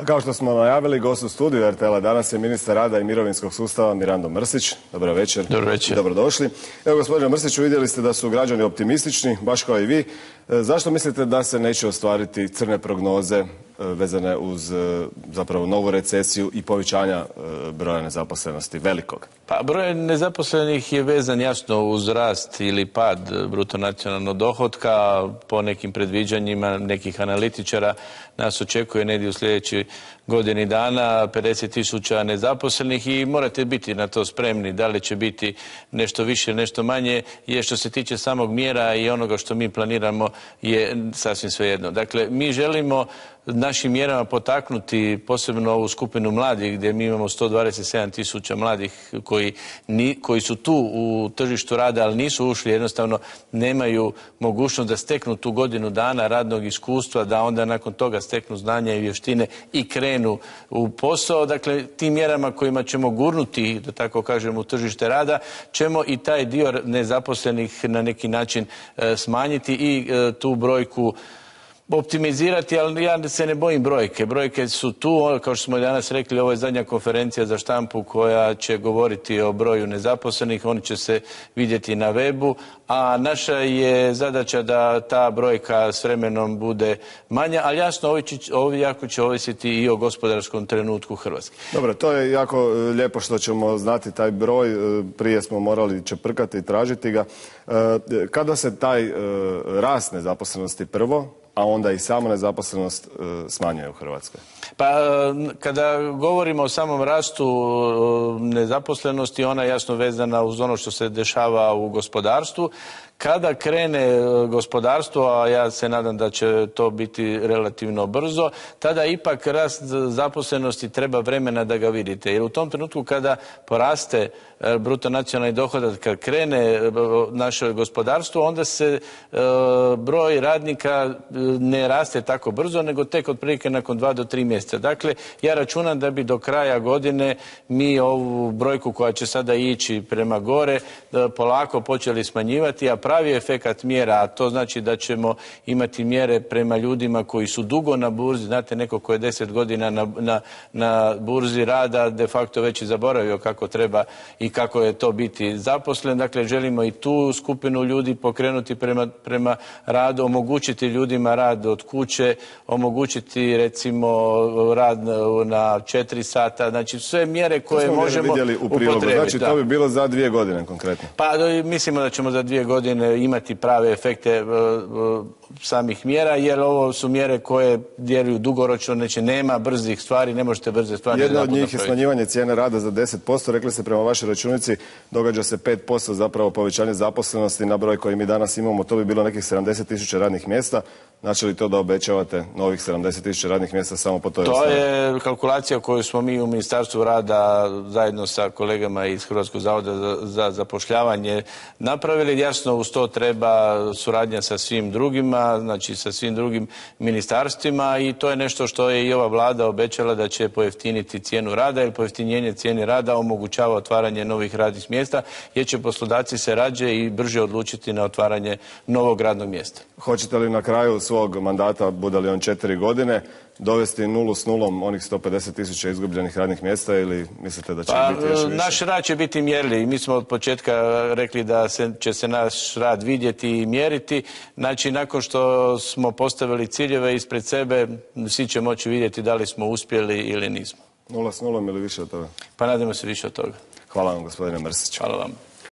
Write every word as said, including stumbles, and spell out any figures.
Kao što smo najavili, gost u studiju er te el-a danas je ministar rada i mirovinskog sustava Mirando Mrsić. Dobro večer. Dobro večer. Dobrodošli. Evo, gospodine Mrsiću, vidjeli ste da su građani optimistični, baš kao i vi. Zašto mislite da se neće ostvariti crne prognoze vezane uz zapravo novu recesiju i povećanja broja nezaposlenosti velikog? Pa broj nezaposlenih je vezan jasno uz rast ili pad bruto nacionalnog dohotka. Po nekim predviđanjima nekih analitičara nas očekuje negdje u sljedećoj godini dana pedeset tisuća nezaposlenih i morate biti na to spremni. Da li će biti nešto više, nešto manje, je što se tiče samog mjera i onoga što mi planiramo je sasvim svejedno. Dakle, mi želimo našim mjerama potaknuti posebno ovu skupinu mladih gdje mi imamo sto dvadeset sedam tisuća mladih koji, ni, koji su tu u tržištu rada, ali nisu ušli, jednostavno nemaju mogućnost da steknu tu godinu dana radnog iskustva, da onda nakon toga steknu znanja i vještine i krenu u posao. Dakle, tim mjerama kojima ćemo gurnuti, da tako kažem, u tržište rada, ćemo i taj dio nezaposlenih na neki način e, smanjiti i e, tu brojku optimizirati, ali ja se ne bojim brojke. Brojke su tu, kao što smo danas rekli, ovo je zadnja konferencija za štampu koja će govoriti o broju nezaposlenih, oni će se vidjeti na webu, a naša je zadaća da ta brojka s vremenom bude manja, ali jasno, ovo jako će ovisiti i o gospodarskom trenutku Hrvatske. Dobro, to je jako lijepo što ćemo znati taj broj, prije smo morali čeprkati i tražiti ga. Kada se taj rast nezaposlenosti prvo, a onda i sama nezaposlenost smanjuje u Hrvatskoj? Pa kada govorimo o samom rastu nezaposlenosti, ona je jasno vezana uz ono što se dešava u gospodarstvu. Kada krene gospodarstvo, a ja se nadam da će to biti relativno brzo, tada ipak rast zaposlenosti treba vremena da ga vidite. Jer u tom trenutku kada poraste bruto nacionalni dohodak, kad krene naše gospodarstvo, onda se broj radnika ne raste tako brzo, nego tek otprilike nakon dva do tri mjeseca. Dakle, ja računam da bi do kraja godine mi ovu brojku koja će sada ići prema gore polako počeli smanjivati, a pravi efekat mjera, a to znači da ćemo imati mjere prema ljudima koji su dugo na burzi. Znate, neko ko je deset godina na, na, na burzi rada de facto već i zaboravio kako treba i kako je to biti zaposlen. Dakle, želimo i tu skupinu ljudi pokrenuti prema, prema radu, omogućiti ljudima rad od kuće, omogućiti recimo rad na četiri sata, znači sve mjere koje možemo upotrijebiti. Znači, to bi bilo za dvije godine konkretno? Pa mislimo da ćemo za dvije godine imati prave efekte samih mjera, jer ovo su mjere koje djeluju dugoročno, znači nema brzih stvari, ne možete brze stvari. Jedna od njih je smanjivanje cijene rada za deset posto, rekli ste prema vašoj računici, događa se pet posto zapravo povećanje zaposlenosti na broj koji mi danas imamo, to bi bilo nekih sedamdeset tisuća radnih mjesta. Znači li to da obećavate novih sedamdeset tisuća radnih mjesta samo po toj osnovi? To je kalkulacija koju smo mi u Ministarstvu rada zajedno sa kolegama iz Hrvatskog zavoda za, za zapošljavanje napravili. Jasno, uz to treba suradnja sa svim drugima, znači sa svim drugim ministarstvima, i to je nešto što je i ova vlada obećala da će pojeftiniti cijenu rada, jer pojeftinjenje cijene rada omogućava otvaranje novih radnih mjesta, jer će poslodavci se rađe i brže odlučiti na otvaranje novog radnog mjesta. Hoćete li na kraju svog mandata, bude li on četiri godine, dovesti nulu s nulom onih sto pedeset tisuća izgubljenih radnih mjesta, ili mislite da će pa, biti još više? Naš rad će biti mjerljiv. Mi smo od početka rekli da se, će se naš rad vidjeti i mjeriti. Znači, nakon što smo postavili ciljeve ispred sebe, svi će moći vidjeti da li smo uspjeli ili nismo. Nula s nulom ili više od toga? Pa nadamo se više od toga. Hvala vam, gospodine Mrsiću. Hvala vam.